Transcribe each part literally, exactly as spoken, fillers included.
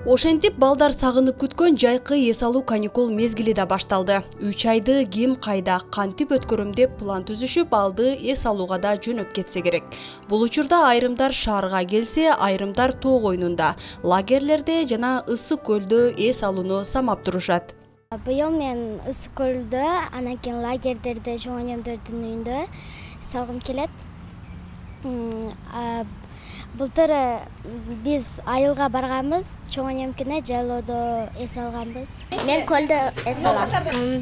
Ошентип балдар сагынып күткөн жайкы эс алуу каникул мезгили да башталды. үч айды ким кайда кантип өткөрөм деп план түзүшүп алды эс алууга да жөнөп кетсе керек. Бул учурда айрымдар шаарга келсе, айрымдар тоо койнунда, лагерлерде жана ысык көлдө эс алууну самап турушат. Быйыл мен ысык көлдө, анан кийин лагердерде, чоңөнөмдөрдүн үйүндө эс алгым келет. Былтыр биз айылга барганбыз, чоңөнөмкүнө жайлоодо эс алганбыз. Мен көлдө эс алам.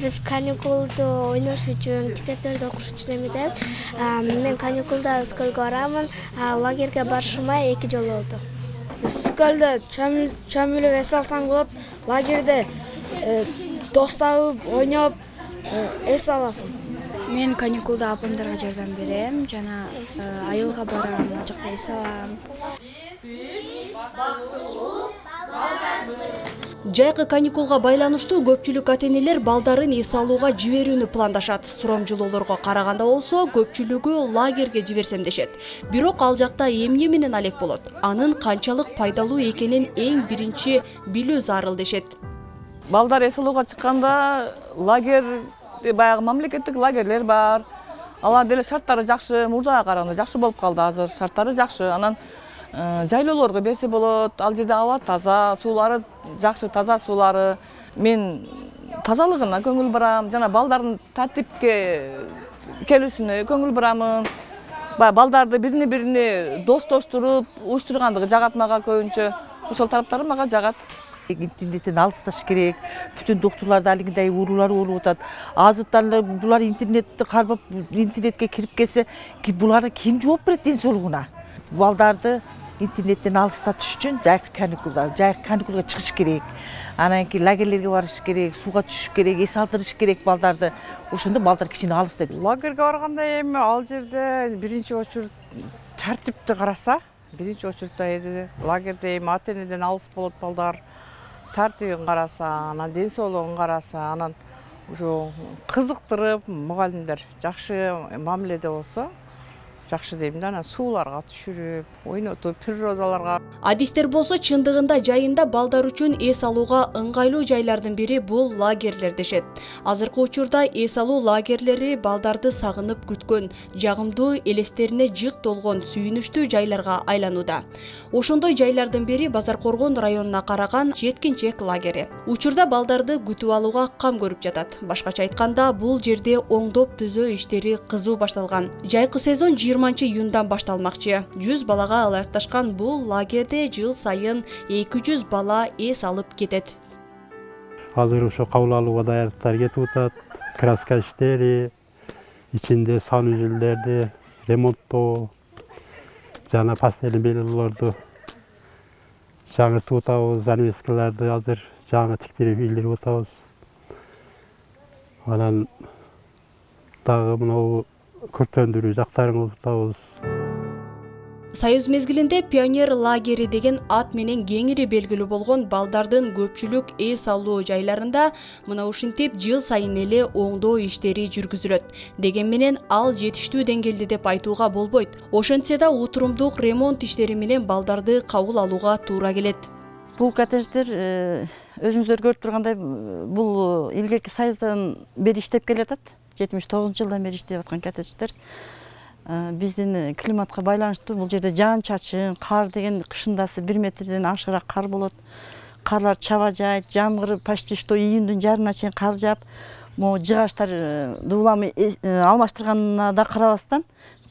Биз каникулду ойнош үчүн, китептерди окуш үчүн эмеден. Мен каникулда ысык көлгө барамын, лагерге барышыма эки жыл болду. Ысык көлдө чөм үлүп эс алсаң болот, лагерде дос табып, ойноп эс аласың. Мен каникулда апамдарга жардам берем, жана айылга барам, ал жакта эс алам. Жайкы каникулга байланыштуу көпчүлүк ата-энелер балдарын эс алууга жиберүүнү пландашат. Сурамжылоолорго караганда болсо, көпчүлүгү лагерге жиберсем дешет. Бирок ал жакта эмне менен алек болот? Анын канчалык пайдалуу экенин эң биринчи билүү зарыл дешет. Балдар эс алууга чыкканда лагерь баягы мамлекеттик лагерлер бар. Алар деле шарттары жакшы, мурдага караганда жакшы болуп калды азыр. Шарттары жакшы. Анан жайлоолорго берсе болот. Ал жерде аба таза, суулары жакшы, таза суулары. Мен тазалыгына көңүл бурам, жана балдардын тартипке келүүсүнө көңүл бурамын. Баягы балдарды бирине-бирине достоштуруп, уюштургандыгы жагат мага көбүнчө. Ошол тараптары мага жагат. Интернеттен алысташ керек. Бүтүн доктурларда алигиндей уурулар болуп атат. Азыртан булар интернетти кармап, интернетке кирип келсе, буларга ким жооп берет ден соолугуна? Балдарды интернеттен алыстатыш үчүн жайкы каникулда, жайкы каникулга чыгыш керек. Анан кийин лагерлерге барыш керек, сууга түшүш керек, эс алдырыш керек балдарды. Ошондо балдар кичине алыстайт. Лагерге барганда эми ал жерде биринчи очередь тартипти караса, биринчи очередь лагерде эми ата-энеден алыс болот балдар. Тартибин караса, анан ден соолугун караса, анан ушу кызыктырып, мугалимдер жакшы мамиледе болсо, жакшы дейм да, анан сууларга түшүрүп, ойнотуп, природаларга. Адистер болсо чындыгында жайында балдар үчүн эс алууга ыңгайлуу жайлардын бири бул лагерлер дешет. Азыркы учурда эс алуу лагерлери балдарды сагынып күткөн, жагымдуу элестерине жык толгон сүйүнүчтүү жайларга айланууда. Ошондой жайлардын бири Базаркоргон районуна караган Жеткинчек лагери. Учурда балдарды күтүп алууга кам көрүп жатат. Башкача айтканда, бул жерде оңдоп түзөө иштери кызуу башталган. Жайкы сезон жыйырманчы июндан башталмакчы. жүз балага ылайыкташкан бул лагерде жыл сайын эки жүз бала эс алып кетет. Азыр ошо кабыл алууга даярдыктар кетип атат. Краска иштери, ичинде санузелдерди ремонттоо, жана пастельный бельелорду жаңыртып атабыз, занавескаларды азыр жаңы тиктирип ийилдирип атабыз. Анан дагы мынау көртөндүрүү жактарын кылып атабыз. Союз мезгилинде пионер лагери деген ат менен кеңири белгилүү болгон балдардын көпчүлүк эс алуу жайларында мына ушинтип жыл сайын эле оңдоо иштери жүргүзүлөт. Деген менен ал жетиштүү деңгээлде деп айтууга болбойт. Ошентсе да утурумдук ремонт иштери менен балдарды кабыл алууга туура келет. Бул коттедждер өзүңүздөр көрүп тургандай, бул илгерки Союздан бери иштеп келатат. жетимиш тогузунчу жылдан бери иштеп аткан коттедждер. Биздин климатка байланыштуу бул жерде жаан-чачын, кар деген кышындасы бир метрден ашыраак кар болот. Карлар чаба жайт, жамгыр почти что июндун жарына чейин кар жаап, могу жыгачтар дуулам алмаштырганына да карабастан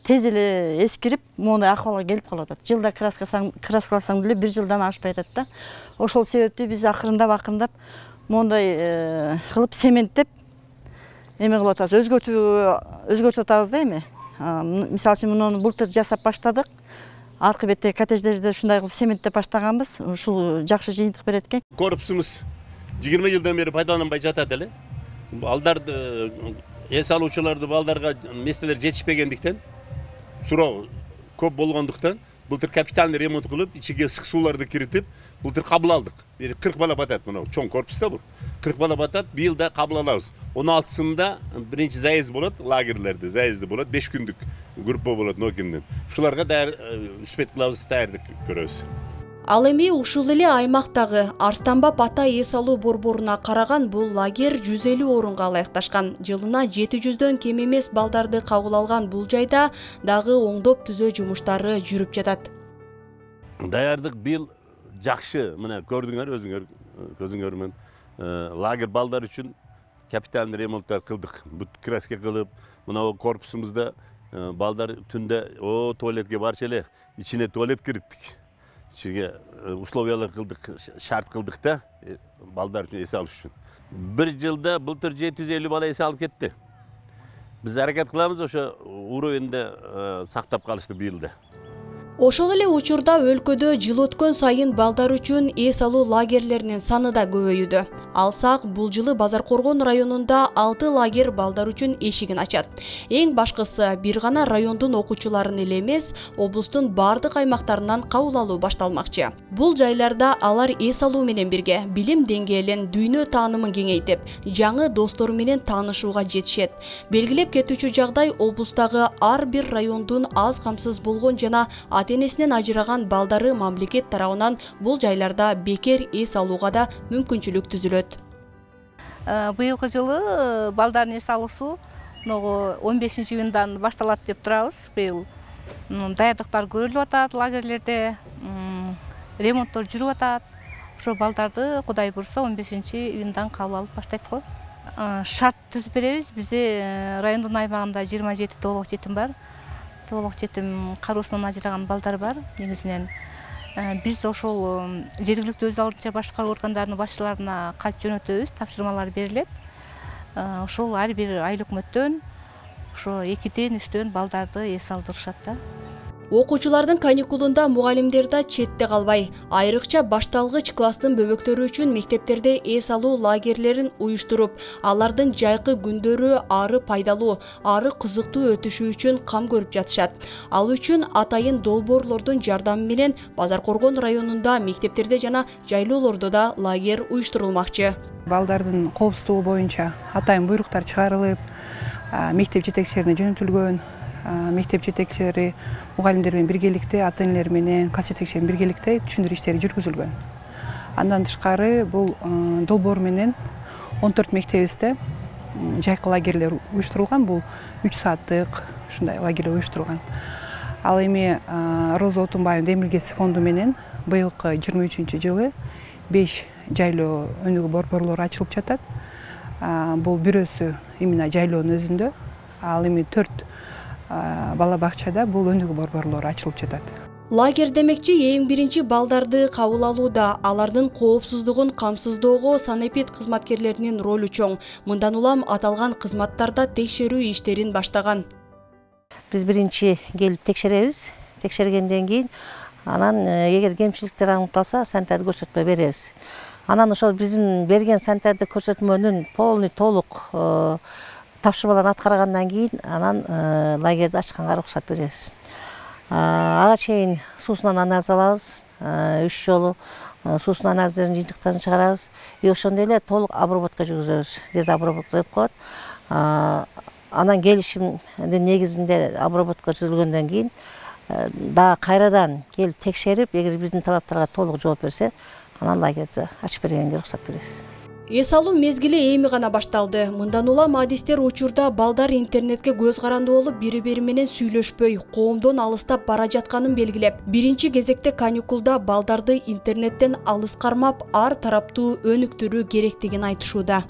тез эле эскирип, моундай акыбалга келип калып атат. Жылда краскаласаң деле бир жылдан ашпай атат да. Ошол себептен биз акырындап-акырындап моундай кылып цементтеп эме кылып атабыз, өзгөртүү өзгөртүп атабыз да эми. Мисалы үчүн муну былтыр жасап баштадык. Аркы бетте коттедждерди ушундай кылып цементтеп баштаганбыз. Ушул жакшы жыйынтык берет экен. Корпусубуз жыйырма жылдан бери пайдаланбай жатат эле. Балдарды эс алуучуларды балдарга местелер жетишпегендиктен, суроо көп болгондуктан былтыр капитальный ремонт кылып, ичиге ысык сууларды киритип, былтыр кабыл алдык. кырк бала батат мына, чоң корпуста бул. кырк бала батат, быйыл да кабыл алабыз. он алтысында биринчи заезд болот, лагерлерде заезди болот, беш күндүк группа болот Нокинден. Ушуларга даяр үспет кылабыз, даярдык көрөбүз. Ал эми ушул эле аймактагы Арстанбап ата эс алуу борборуна караган бул лагерь жүз элүү орунга ылайыкташкан. Жылына жети жүздөн кем эмес балдарды кабыл алган бул жайда дагы оңдоп түзөө жумуштары жүрүп жатат. Даярдык быйыл жакшы, мына көрдүңөр өзүңөр көзүңөр менен лагерь балдар үчүн капитальный ремонттар кылдык. Бут краска кылып, мына корпусубузда балдар түндө о туалетке барчу эле, ичине туалет кириттик. Ичине условиялар кылдык, шарт кылдык да, балдар үчүн эс алыш үчүн. Бир жылда былтыр жети жүз элүү бала эс алып кетти. Биз аракет кылабыз ошо уровеньде сактап калышты быйыл да. Ошол эле учурда өлкөдө жыл өткөн сайын балдар үчүн эс алуу лагерлеринин саны да көбөйүүдө. Алсак, бул жылы Базаркоргон районунда алты лагерь балдар үчүн эшигин ачат. Эң башкысы бир гана райондун окуучуларын эле эмес, облустун бардык аймактарынан кабыл алуу башталмакчы. Бул жайларда алар эс алуу менен бирге билим деңгээлин, дүйнө таанымын кеңейтип, жаңы достору менен таанышууга жетишет. Белгилеп кетүүчү жагдай облустагы ар бир райондун аз камсыз болгон жана ата-энесинен ажыраган балдары мамлекет тарабынан бул жайларда бекер эс алууга да мүмкүнчүлүк түзүлөт. Быйылкы жылы балдардын эс алуусу он бешинчи июндан башталат деп турабыз. Быйыл даярдыктар көрүлүп атат, лагерлерде ремонттор жүрүп атат. Ошо балдарды Кудай бурса он бешинчи июндан кабыл алып баштайт го. Шарт түзүп беребиз. Бизде райондун аймагында жыйырма жети толук жетим бар. Толук жетим кароосунан ажыраган балдар бар. Негизинен биз ошол жергиликтүү өз алдынча башкаруу органдарынын башчыларына кат жөнөтөбүз, тапшырмалар берилет. Ошол ар бир айыл өкмөттөн ошо экиден үчтөн балдарды эс алдырышат да. Окуучулардын каникулунда мугалимдер да четте калбай, айрыкча башталгыч класстын бөбөктөрү үчүн мектептерде эс алуу лагерлерин уюштуруп, алардын жайкы күндөрү ары пайдалуу, ары кызыктуу өтүшү үчүн кам көрүп жатышат. Ал үчүн атайын долбоорлордун жардамы менен Базаркоргон районунда мектептерде жана жайлоолордо да лагерь уюштурулмакчы. Балдардын коопсуздугу боюнча атайын буйруктар чыгарылып, мектеп жетекчилерине жөнөтүлгөн. Мектеп жетекчилери мугалимдер менен биргеликте, ата-энелер менен, класс жетекчилери менен биргеликте түшүндүрүү иштери жүргүзүлгөн. Андан тышкары бул долбоор менен он төрт мектебибизде жайкы лагерлер уюштурулган. Бул үч сааттык ушундай лагерлер уюштурулган. Ал эми Роза Отунбаева демилгеси фонду менен быйылкы жыйырма үчүнчү жылы беш жайлоо өнүгүү борборлору ачылып жатат. Бул бирөөсү именно жайлоонун өзүндө, ал эми төрт бала бакчада бул өнүгүү борборлору ачылып жатат. Лагерь демекчи эң биринчи балдарды кабыл алууда, алардын коопсуздугун камсыздоого санэпид кызматкерлеринин ролу чоң. Мындан улам аталган кызматтарда текшерүү иштерин баштаган. Биз биринчи келип текшеребиз. Текшергенден кийин анан эгер кемчиликтер аныкталса, санитардык көрсөтмө беребиз. Анан ошол биздин берген санитардык көрсөтмөнүн полный толук тапшырмаларын аткаргандан кийин анан лагерди ачканга уруксат беребиз. Ага чейин суусунан анализ алабыз, үч жолу суусунан анализдердин жыйынтыктарын чыгарабыз. И ошондой эле толук обработка жүргүзөбүз. Дезобработка деп коет. Анан келишимдин негизинде обработка жүргүзүлгөндөн кийин дагы кайрадан келип текшерип, эгер биздин талаптарга толук жооп берсе, анан лагерди ачып бергенге уруксат беребиз. Эс алуу мезгили эми гана башталды. Мындан улам адистер учурда балдар интернетке көз каранды болуп, бири-бири менен сүйлөшпөй, коомдон алыстап бара жатканын белгилеп, биринчи кезекте каникулда балдарды интернеттен алыс кармап, ар тараптуу өнүктүрүү керектигин айтышууда.